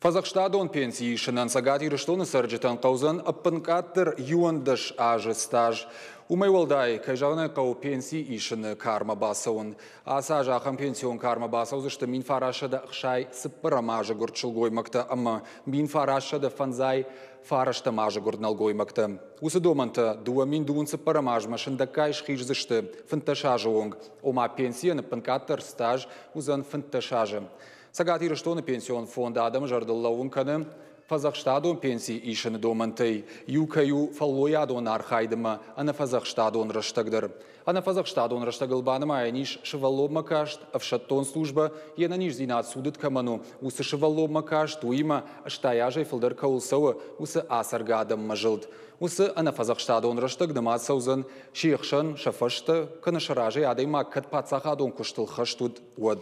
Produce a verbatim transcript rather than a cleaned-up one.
Фӕдзӕхстадон пенси исынӕн Цӕгат Ирыстоны цӕрджытӕн хъӕудзӕн ӕппынкъаддӕр иуӕндӕс азы стаж. Уымӕй уӕлдай, кӕй зӕгъын ӕй хъӕуы, пенси исыны кармӕ бацӕуын. Ацы аз ахӕм пенсион кармӕ бацӕудзысты мин фарастсӕдӕ ӕхсай цыппӕрӕм азы гуырд сылгоймӕгтӕ ӕмӕ мин фарастсӕдӕ фӕндзай фарӕстӕм азы гуырд нӕлгоймӕгтӕ. Уыцы домӕнтӕ дыууӕ мин дыууын цыппӕрӕм азмӕ сындӕггай схиздзысты фынддӕс азы онг. Ома пенсийӕн ӕппынкъаддӕр стаж уыдзӕн фынддӕс азы. Цӕгат Ирыстоны пенсион фонд адӕмы зӕрдыл лӕууын кӕны, фӕдзӕхстадон пенси исыны домӕнтӕй иу кӕй у фӕллойадон архайдмӕ ӕнӕфӕдзӕхстадон рӕстӕг дӕр. Ӕнӕфӕдзӕхстадон рӕстӕгыл банымайӕн ис сывӕллонмӕ каст, ӕфсӕддон службӕ, йе нӕниздзинад цудыд кӕмӕн у, уыцы сывӕллонмӕ каст, уыимӕ ӕстай азӕй фылдӕр кӕуыл цӕуы, уыцы ацӕргӕ адӕммӕ зылд. Уыцы ӕнӕфӕдзӕхстадон рӕстӕг нымад цӕудзӕн се хсӕн, сӕ фӕстӕ, кӕнӕ сӕ разӕй адӕймаг кӕд паддзахадон куыстыл хӕст уыд, уӕд.